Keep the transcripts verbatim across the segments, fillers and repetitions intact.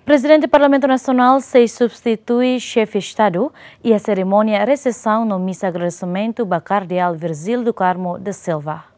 Prezidente Parlamentu Nasionál sei substitui Xefe Estadu iha serimónia resesaun no misa agradesimentu ba Kardeál Virgílio do Carmo da Silva.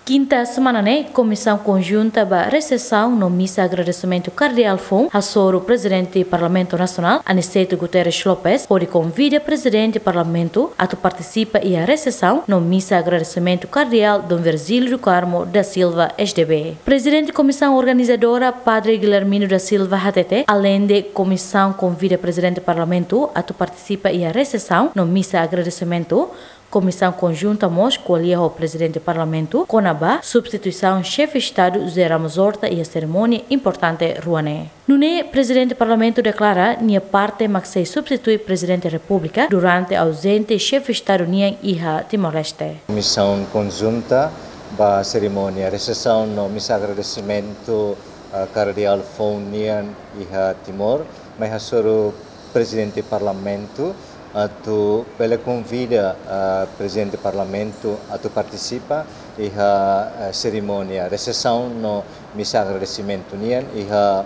Kinta semana ne'e, Komisaun Konjunta ba Resesaun no Misa Agradesimentu Kardeál foun hasoru Prezidente Parlamentu Nasionál, Aniceto Guterres Lopes, hodi konvida Prezidente Parlamentu atu partisipa iha resesaun no misa agradesimentu Kardeál Dom Virgílio do Carmo da Silva, S D B. Prezidente Komisaun Organizadora, Padre Guilhermino da Silva, hatete, aleinde komisaun konvida Prezidente Parlamentu atu partisipa iha resesaun no misa agradesimentu, Komisaun Konjunta mós ko'alia ho Prezidente Parlamentu kona-ba substituisaun Xefe Estadu José Ramos Horta iha serimónia importante rua ne'e. Nune'e, Prezidente Parlamentu deklara nia parte mak sei substitui Prezidente Repúblika durante auzente Xefe Estadu nian iha Timor-Leste. Komisaun Konjunta ba serimónia resesaun no misa agradesimentu, ah, Kardeál foun nian iha Timor, mai hasoru Prezidente Parlamentu atu bele konvida, ah, Prezidente Parlamentu atu partisipa iha, ah, serimónia resesaun no misa agradesimentu nian iha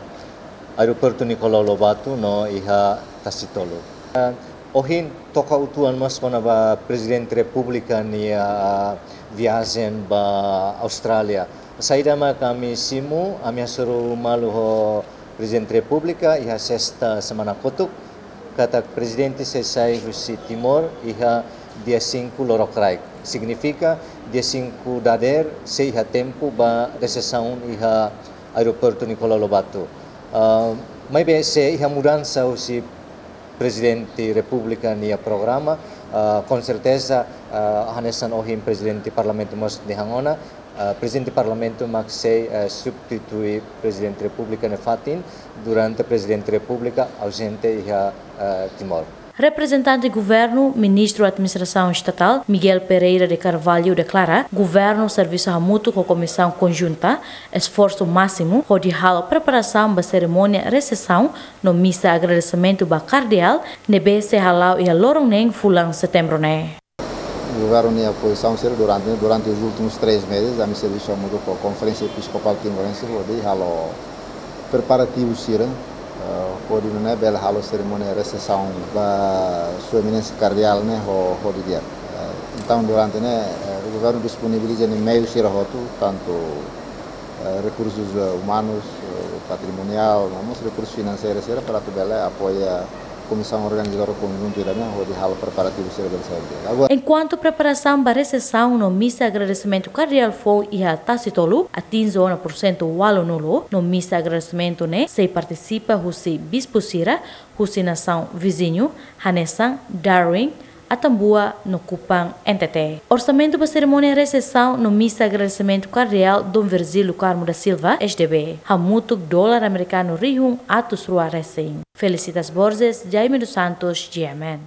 Aeroportu Nicolau Lobato no iha Tasitolu. Ah, ohin toka uitoan mós kona-ba Prezidente Repúblika nia, ah, viajen ba Austrália. Saida mak ami simu, ami hasoru malu ho Prezidente Repúblika iha sesta semana kotuk, katak Prezidente sei sai husi Timor iha dia cinco lorokraik. Signifika dia cinco dadeer sei iha tempu ba resesaun iha Aeroportu Nicolau Lobato. Ah, maibé se iha mudansa husi Prezidente Repúblika nia programa, ah, konserteza, ah, hanesan ohin Prezidente Parlamentu mós dehan ona, ah, Prezidente Parlamentu mak sei, ah, substitui Prezidente Repúblika nia fatin durante Prezidente Repúblika auzente iha, ah, Timor. Reprezentante Governu, Ministru Administrasaun Estatál, Miguel Pereira de Carvalho, deklara, Governu servisu hamutuk ho Komisaun Konjunta, esforsu másimu hodi halo preparasaun ba serimónia resesaun no misa agradesimentu ba Kardeál, ne'ebé sei hala'o iha loron neen fulan Setembru ne'e. Governu nia pozisaun sira durante, durante os últimos três meses, ami servisu hamutuk ho Konferénsia Episkopál Timorense hodi halo preparativu sira, eh, hodi nune'e bele halo serimónia resesaun ba Sua Eminénsia Kardeál ne'e ho, ho di'ak. Eh, entaun, durante ne'e, eh, governu disponibiliza nia meiu sira hotu, tantu, eh, rekursus, eh, umanus, eh, patrimoniál, no mós rekursus finanseirus sira para atu bele apoia Komisaun Organizadora Konjunta ida-ne'e hodi halo preparativu sira bele sai di'ak. Agora, enkuantu preparasaun ba resesaun no misa agradesimentu Kardeál foun iha Tasitolu atinje ona pursentu ualunulu, no misa agradesimentu ne'e sei partisipa husi bispu sira husi nasaun viziñu, hanesan Darwin, Atambua no Kupang, N T T. Orsamentu ba serimónia resesaun no misa agradesimentu Kardeál Dom Virgílio Carmo da Silva, S D B, hamutuk dolar amerikanu rihun atus rua resin. Felicitas Borges, Jaime dos Santos, G M N.